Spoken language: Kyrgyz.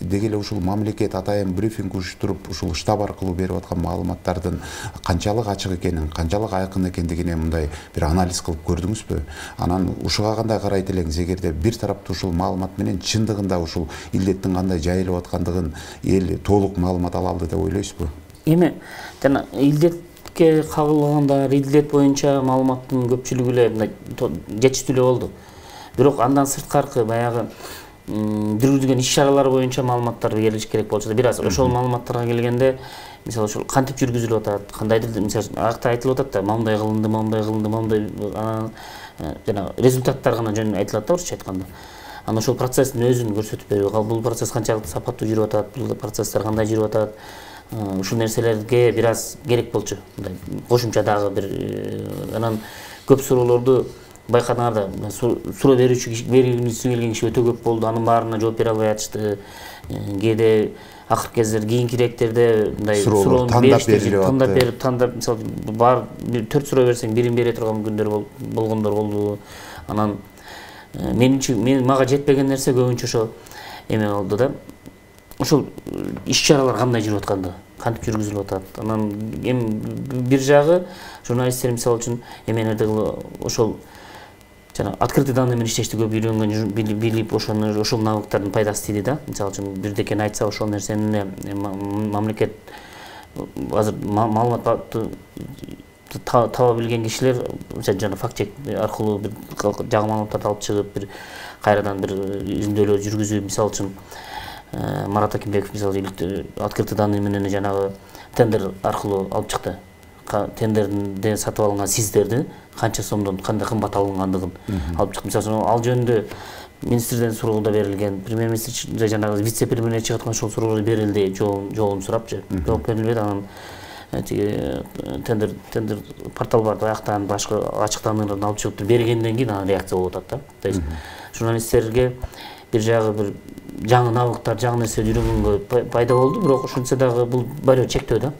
Деги эле ушул мамлекет атайын брифинг уюштуруп, ушул штаб аркылуу берип аткан маалыматтардын канчалык ачык экенин, канчалык айкын экендигине мындай бир анализ кылып көрдүңүзбү? Анан ушуга кандай карайт элеңиз? Эгерде бир тараптуу ушул маалымат менен чындыгында ушул илдеттин кандай жайылып аткандыгын эл толук маалымат ала алды деп ойлойсузбу? Эми жана илдетке кабылгандар, илдет боюнча маалыматтын көпчүлүгү эле мындай жетиштүү эле болду. Бирок андан сырткаркы баягы жүргүзүлгөн иш-чаралар боюнча маалыматтар берилиш керек болчу да. Бир аз ошол маалыматтарга келгенде, мисалы ушул кантип жүргүзүлүп атат, кандайдыр мисалы акта айтылып атат да, моундай кылынды, моундай жана результаттар гана жөн айтылат да, орусча айтканда. Анан ошол процесстин өзүн көрсөтүп берүү, бул процесс канчалык сапаттуу жүрүп атат, бул процесстер кандай жүрүп атат, ушул нерселерге бир аз керек болчу. Мындай кошумча дагы бир анан көп суроолорду байкадыңар да, суроо бергиси келген киши өтө көп болду. Анын баарына жооп бере албай атышты. Кээде акыркы кездер кийинкирээктерде мындай суроону тандап берип, мисалы бар 4 суроо берсең бирин бере турган күндөр болгондор болду. Анан мага жетпеген нерсе көбүнчө ошо эме болду да. Ошол иш-чаралар кандай жүрүп атканды, кантип жүргүзүлүп атат. Анан эми бир жагы журналисттер мисалы үчүн эмелерди ошол жана открытый данный менен иштешти көп үйрөнгөн, билип ошол навыктардын пайдасы тиди да. Мисалы үчүн бирдекени айтса ошол нерсени мамлекет азыр маалыматты таба билген кишилер жана факт чек аркылуу бир жаңы маалыматтарды алып чыгып, бир кайрадан бир изилдөөлөр жүргүзүп, мисалы үчүн Марат Акимбеков мисалы открытый данный менен жанагы тендер аркылуу алып чыкты. Тендерден сатып алынган сиздерди канча сомдон кандай кымбат алынгандыгын алып чыкты. Мисалы ал жөнүндө министрден суроо да берилген, премьер-министр жанагы вице-премьер чыгып аткан ошол суроолор берилди, жообун сурапчы. Жооп берилбеди. Анан тендер портал бар, аяктан башка ачыктандыруудан алып чыгып бергенден кийин анан реакция болуп атат да. То есть журналисттерге бир жагы бир жаңы навыктар, жаңы нерсе үйрөнгөнгө пайда болду, бирок ошентсе дагы бул барыбир чектөө да.